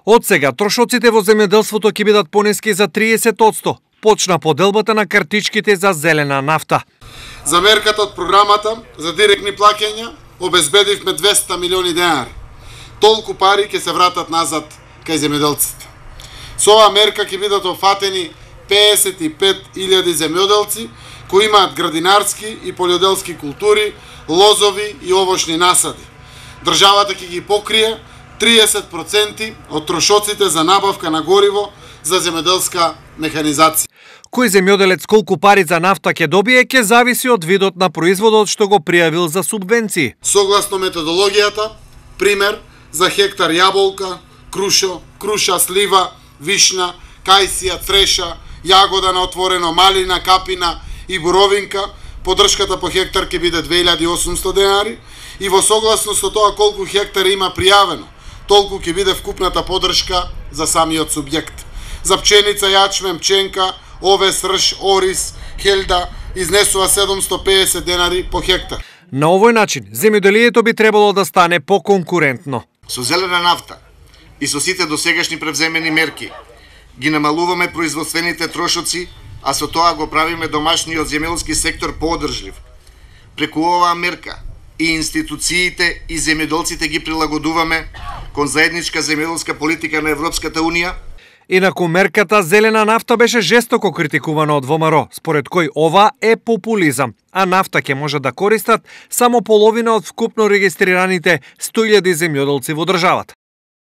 Од сега трошоците во земјоделството ќе бидат понески за 30%. Почна поделбата на картичките за зелена нафта. За мерката од програмата за директни плаќања обезбедивме 200 милиони денари. Толку пари ќе се вратат назад кај земјоделците. Со оваа мерка ќе бидат офатени 55.000 земјоделци кои имаат градинарски и полјоделски култури, лозови и овошни насади. Државата ќе ги покрие 30% од трошоците за набавка на гориво за земјоделска механизација. Кој земјоделец колку пари за нафта ќе добие ќе зависи од видот на производот што го пријавил за субвенции. Согласно методологијата, пример за хектар јаболка, круша, слива, вишна, кајсија, цреша, јагода на отворено, малина, капина и боровинка, поддршката по хектар ќе биде 2800 денари и во согласност со тоа колку хектар има пријавено, толку ќе биде вкупната поддршка за самиот субјект. За пченица, јачмен, пченка, овес, рж, орис, хелда изнесува 750 денари по хектар. На овој начин, земјоделието би требало да стане поконкурентно. Со зелена нафта и со сите досегашни превземени мерки ги намалуваме производствените трошоци, а со тоа го правиме домашниот земјоделски сектор поодржлив. Преку оваа мерка и институциите и земјоделците ги прилагодуваме кон заедничка земјоделска политика на Европската Унија. Инаку мерката зелена нафта беше жестоко критикувана од ВМРО, според кој ова е популизам, а нафта ќе може да користат само половина од вкупно регистрираните 100.000 земјоделци во државата.